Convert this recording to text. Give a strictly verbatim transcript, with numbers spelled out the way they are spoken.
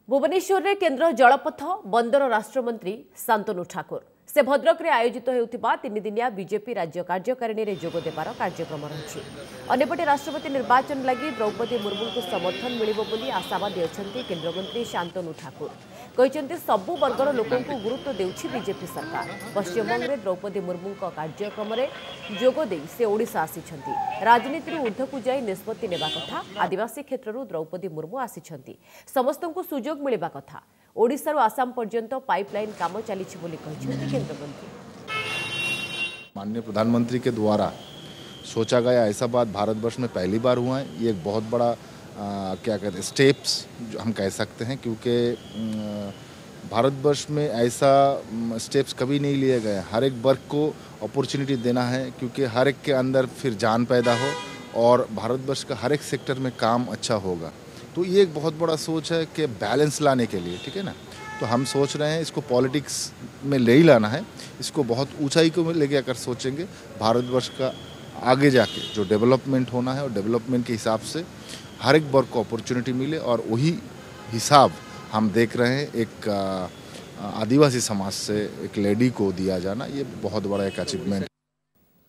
ଭୁବନେଶ୍ୱରରେ କେନ୍ଦ୍ର ଜଳପଥ ବନ୍ଦର ରାଷ୍ଟ୍ରମନ୍ତ୍ରୀ ଶାନ୍ତନୁ ଠାକୁର ସେ ଭଦ୍ରକରେ ଆୟୋଜିତ ହେଉଥିବା ତିନିଦିନିଆ ବିଜେପି ରାଜ୍ୟ କାର୍ଯ୍ୟକାରିଣୀରେ ଯୋଗ ଦେବାର କାର୍ଯ୍ୟକ୍ରମ ରହିଛି। ଅନ୍ୟପଟେ ରାଷ୍ଟ୍ରପତି ନିର୍ବାଚନ ଲାଗି ଦ୍ରୌପଦୀ ମୁର୍ମୁଙ୍କୁ ସମର୍ଥନ ମିଳିବ ବୋଲି ଆଶାବାଦୀ ଅଛନ୍ତି କେନ୍ଦ୍ରମନ୍ତ୍ରୀ ଶାନ୍ତନୁ ଠାକୁର। କହିଛନ୍ତି, ସବୁ ବର୍ଗର ଲୋକଙ୍କୁ ଗୁରୁତ୍ୱ ଦେଉଛି ବିଜେପି ସରକାର। ପଶ୍ଚିମବଙ୍ଗରେ ଦ୍ରୌପଦୀ ମୁର୍ମୁଙ୍କ କାର୍ଯ୍ୟକ୍ରମରେ ଯୋଗ ଦେଇ ସେ ଓଡ଼ିଶା ଆସିଛନ୍ତି। ରାଜନୀତିରୁ ଉର୍ଦ୍ଧ୍ୱକୁ ଯାଇ ନିଷ୍ପତ୍ତି ନେବା କଥା। ଆଦିବାସୀ କ୍ଷେତ୍ରରୁ ଦ୍ରୌପଦୀ ମୁର୍ମୁ ଆସିଛନ୍ତି, ସମସ୍ତଙ୍କୁ ସୁଯୋଗ ମିଳିବା କଥା। ଓଡ଼ିଶାରୁ ଆସାମ ପର୍ଯ୍ୟନ୍ତ ପାଇପଲାଇନ୍ କାମ ଚାଲିଛି ବୋଲି କହିଛନ୍ତି କେନ୍ଦ୍ରମନ୍ତ୍ରୀ। माननीय प्रधानमंत्री के द्वारा सोचा गया ऐसा बात भारतवर्ष में पहली बार हुआ है। ये एक बहुत बड़ा आ, क्या कहते हैं, स्टेप्स जो हम कह सकते हैं, क्योंकि भारतवर्ष में ऐसा स्टेप्स कभी नहीं लिए गए। हर एक वर्ग को अपॉर्चुनिटी देना है, क्योंकि हर एक के अंदर फिर जान पैदा हो और भारतवर्ष का हर एक सेक्टर में काम अच्छा होगा। तो ये एक बहुत बड़ा सोच है कि बैलेंस लाने के लिए, ठीक है ना। तो हम सोच रहे हैं इसको पॉलिटिक्स में ले ही लाना है, इसको बहुत ऊंचाई को लेके अगर सोचेंगे भारतवर्ष का आगे जाके जो डेवलपमेंट होना है और डेवलपमेंट के हिसाब से हर एक वर्ग को अपॉर्चुनिटी मिले, और वही हिसाब हम देख रहे हैं एक आदिवासी समाज से एक लेडी को दिया जाना, ये बहुत बड़ा एक अचीवमेंट।